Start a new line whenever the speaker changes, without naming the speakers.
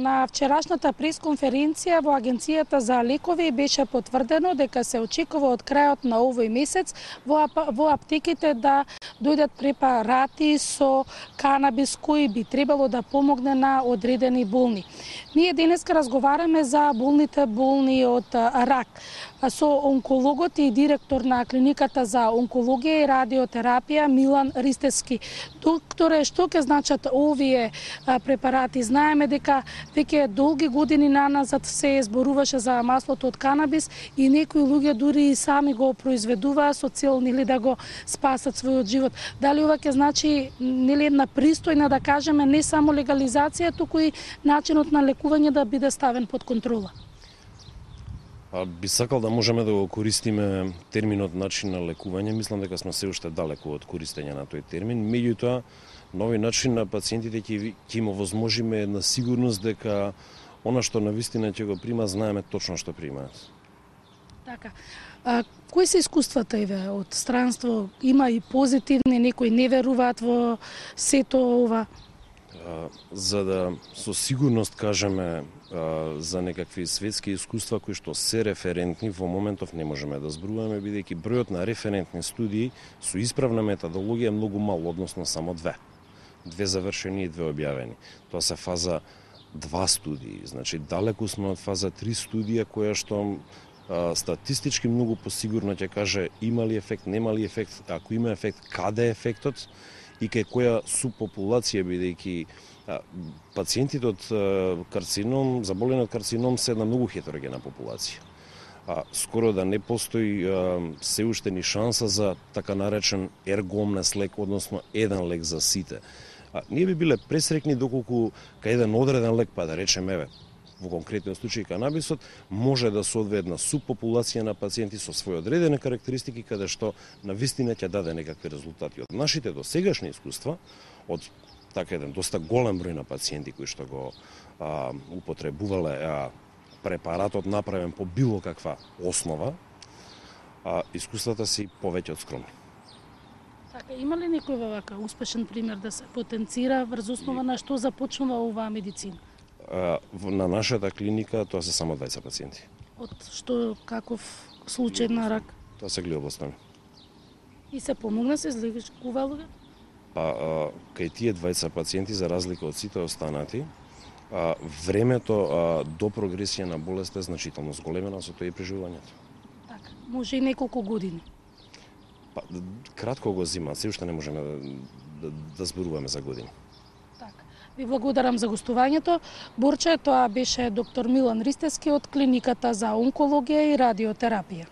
На вчерашната пресконференција во Агенцијата за лекови беше потврдено дека се очекува од крајот на овој месец во аптеките да дојдат препарати со канабис кои би требало да помогне на одредени болни. Ние денеска разговараме за болни од рак со онкологот и директор на клиниката за онкологија и радиотерапија Милан Ристевски. Докторе, што ќе значат овие препарати? Знаеме дека веќе долги години наназад се зборуваше за маслото од канабис и некои луѓе дури и сами го произведуваа со цел да го спасат својот живот. Дали ова ќе значи една пристојна, да кажеме, не само легализација, туку и начинот на лекување да биде ставен под контрола?
Би сакал да можеме да го користиме терминот начин на лекување. Мислам дека сме се уште далеку од користење на тој термин. Меѓутоа, нови начин на пациентите ќе им овозможиме една сигурност дека она што навистина ќе го прима, знаеме точно што примаат.
Така. Кои се искуствата од странство? Има и позитивни, некои не веруваат во сето ова?
За да со сигурност кажеме за некакви светски искуства кои што се референтни, во моментов не можеме да зборуваме, бидејќи бројот на референтни студии со исправна методологија е многу мал, односно само две завршени и две објавени. Тоа се фаза 2 студии, значи далеку сме од фаза 3 студија која што статистички многу посигурно ќе каже има ли ефект, нема ли ефект, ако има ефект, каде е ефектот и кај која субпопулација, бидејќи пациентите од карцином, заболени од карцином се една многу хетерогена популација. Скоро да не постои се уште ни шанса за така наречен ергомнес лек, односно еден лек за сите. Ние би биле пресрекни доколку кај еден одреден лек, па да речеме, во конкретниот случај канабисот, може да се одвие една субпопулација на пациенти со своји одредени карактеристики, каде што навистина ќе даде некакви резултати. Од нашите досегашни искуства, од така еден доста голем број на пациенти кои што го употребувале препаратот направен по било каква основа, искуствата се повеќе од скромни.
Така, има ли некој вака успешен пример да се потенцира врз основа на што започнува оваа медицина?
На нашата клиника тоа се само 20 пациенти.
Од што, каков случај на рак?
Тоа се глиобластоми.
И се помогна, се излекува луѓе?
Кај тие 20 пациенти, за разлика од сите останати, времето до прогресија на болест е значително зголемено, со тоа и преживувањето.
Така, може и неколку години.
Кратко го зима, се уште не можеме да зборуваме за години.
Ви благодарам за гостувањето. Борче, тоа беше доктор Милан Ристевски од клиниката за онкологија и радиотерапија.